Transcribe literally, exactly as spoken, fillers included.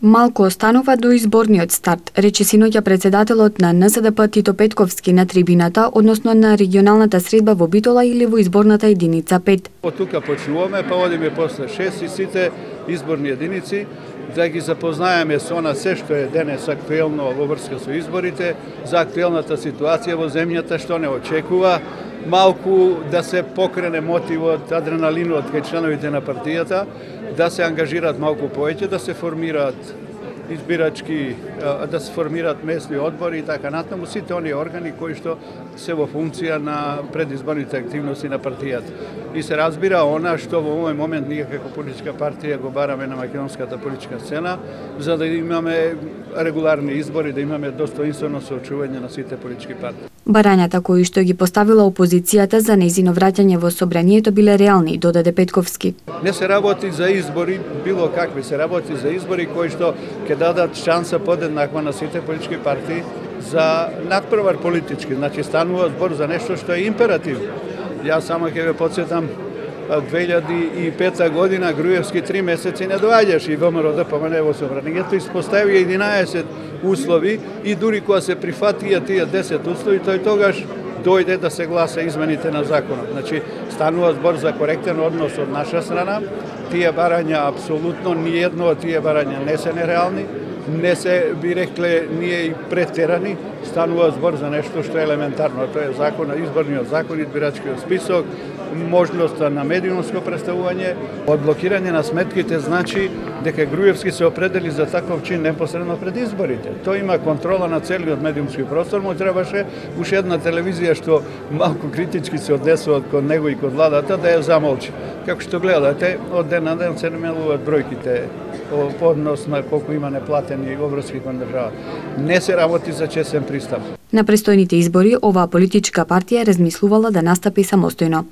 Малку останува до изборниот старт, рече синоќа председателот на Н С Д П Тито Петковски на трибината, односно на регионалната средба во Битола или во изборната единица пет. Од тука почнуваме, па одиме после шест и сите изборни единици, да ги запознаеме со она се што е денес актуелно во врска со изборите, за актуелната ситуација во земјата, што не очекува, малку да се покрене мотивот, адреналинот кај членовите на партијата, да се ангажираат малку повеќе, да се формираат избирачки, да се формираат местни одбори и така натаму, сите оние органи кои што се во функција на предизборните активности на партијата. И се разбира она што во овој момент ние како политичка партија го бараме на македонската политичка сцена, за да имаме регуларни избори, да имаме достоинствено соочување на сите политички партии. Барањата кои што ги поставила опозицијата за нејзино враќање во собранието биле реални, додаде Петковски. Не се работи за избори било какви, се работи за избори кои што ќе дадат шанса подеднаква на сите политички партии за надпревар политички, значи станува збор за нешто што е императив. Јас само ќе ве потсетам, две илјади и пета година Груевски три месеци не доаѓаше и ВМРО да помене во собранието, испостави единаесет услови и дури кога се прифатија тие десет услови, тој тогаш дојде да се гласа измените на законот. Значи, станува збор за коректен однос од наша страна. Тие барања, апсолутно, ниедно од тие барања не се нереални, не се, би рекле, ние и претерани. Станува збор за нешто што е елементарно. Тоа е закон, изборниот закон, избирачкиот список, можноста на медиумско представување. Одблокирање на сметките значи дека Груевски се определи за таков чин непосредно пред изборите. Тој има контрола на целиот медиумски простор, му требаше уште една телевизија што малку критички се однесува кон него и кон владата да ја замолчи. Како што гледате, од ден на ден се намалуваат бројките по однос на колку има неплатени обврски кон државата. Не се работи за честен пристап. На престојните избори оваа политичка партија размислувала да настапи самостојно.